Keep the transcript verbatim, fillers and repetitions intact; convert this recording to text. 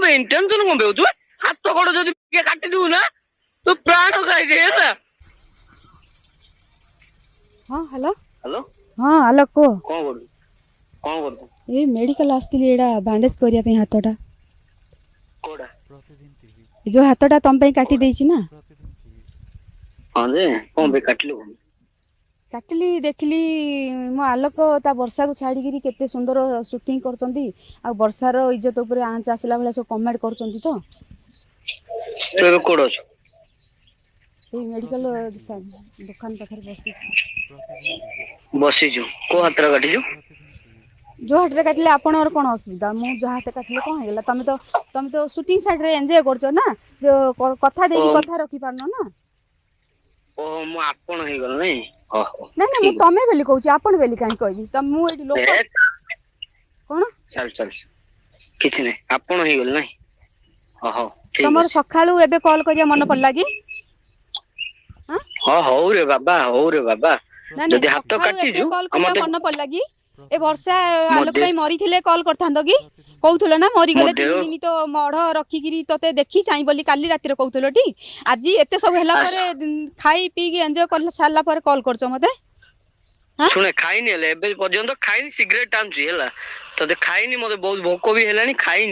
ପାଇଁ ଟେନସନ କଣ ପାଇଁ ହଉଛୁ ବେ? ହାତ ଗୋଡ ଯଦି ଟିକେ କାଟିଦବୁ ନା ତୁ ପ୍ରାଣ ଖାଇଦେ ହେଲା। ହଁ, ହ୍ୟାଲୋ। ହ୍ୟାଲୋ। ହଁ, ଆଲୋ, କୁହ। କଣ କରୁଛୁ, କଣ କରୁଛୁ? ଏଇ ମେଡ଼ିକାଲ ଆସିଥିଲି, ଏଇଟା ବ୍ୟାଣ୍ଡେଜ୍ କରିବା ପାଇଁ ହାତଟା। କୋଉଟା? ଏ ଯୋଉ ହାତଟା ତମ ପାଇଁ କାଟି ଦେଇଛି ନା। ହଁ ଯେ, କଣ ପାଇଁ କାଟିଲୁ? କାଟିଲି, ଦେଖିଲି ମୋ ଆଲୋକ ତା ବର୍ଷାକୁ ଛାଡ଼ିକିରି କେତେ ସୁନ୍ଦର ସୁଟିଂ କରୁଛନ୍ତି, ଆଉ ବର୍ଷାର ଇଜ୍ଜତ ଉପରେ ଆଞ୍ଚ ଆସିଲା ଭଳିଆ ସବୁ କମେଣ୍ଟ କରୁଛନ୍ତି ତ। ତୁ ଏବେ କୋଉଠି ଅଛୁ? ଏଇ ମେଡ଼ିକାଲ ଦୋକାନ ପାଖରେ ବସିଛି। ବସିଛୁ? କୋଉ ହାତରେ କାଟିଛୁ? ଯୋଉ ହାତରେ କାଟିଲେ ଆପଣଙ୍କର କଣ ଅସୁବିଧା? ମୁଁ ଯାହା ହାତ କାଟିଲେ କଣ ହେଇଗଲା? ତମେ ତ ତମେ ତ ସୁଟିଂ ସାଇଡରେ ଏନ୍ଜୟ କରୁଛ ନା, ଯୋଉ କଥା ଓ ଦେଇକି କଥା ରଖିପାରୁନ ନା। ଓହୋ, ମୁଁ ଆପଣ ହେଇଗଲ ନାଇଁ? ଓହୋ। ନାଇଁ ନାଇଁ, ମୁଁ ଠିକ ତମେ ବୋଲି କହୁଛି, ଆପଣ ବୋଲି କାହିଁ କହିବି? ତ ମୁଁ ଏଇଠି ଲୋକ ଏ କଣ? ଚାଲ ଚାଲ, କିଛି ନାହିଁ, ଆପଣ ହେଇଗଲେ ନାଇଁ? ହଁ, ହଉ, ଠିକ ତମର ଅଛି। ସକାଳୁ ଏବେ କଲ୍ କରିବା ମନେ ପଡିଲା କି? ହଁ, ହଉ ରେ ବାବା, ହଉ ରେ ବାବା। ନାଇଁ ନାଇଁ, ଯଦି ହାତ ସକାଳୁ ଏବେ କାଟିଛୁ କଲ୍ ଆଉ କରିବା ମତେ ମନେ ପଡିଲା କି? ଏ ବର୍ଷା ମୋ ଆଲୋକ ଦେ ପାଇଁ ମରିଥିଲେ କଲ୍ କରିଥାନ୍ତ କି? କହୁଥିଲ ନା ମୋ ମରିଗଲେ ଦେହ ତିନି ଦିନ ତ ମଢ ରଖିକିରି ତତେ ଦେଖି ଚାହିଁ ବୋଲି କାଲି ରାତିରେ କହୁଥିଲ ଟି? ଆଜି ଏତେ ସବୁ ହେଲା ପରେ, ଖାଇ ପିଇକି ଏଞ୍ଜୟ କରି ସାରିଲା ପରେ କଲ୍ କରୁଛ ମତେ? ଶୁଣେ, ଖାଇନି, ହେଲେ ଏବେ ପର୍ଯ୍ୟନ୍ତ ଖାଇନି, ସିଗରେଟ ଟାଣୁଛି ହେଲା। ତତେ ଖାଇନି, ମତେ ବହୁତ ଭୋକ ବି ହେଲାଣି, ଖାଇନି।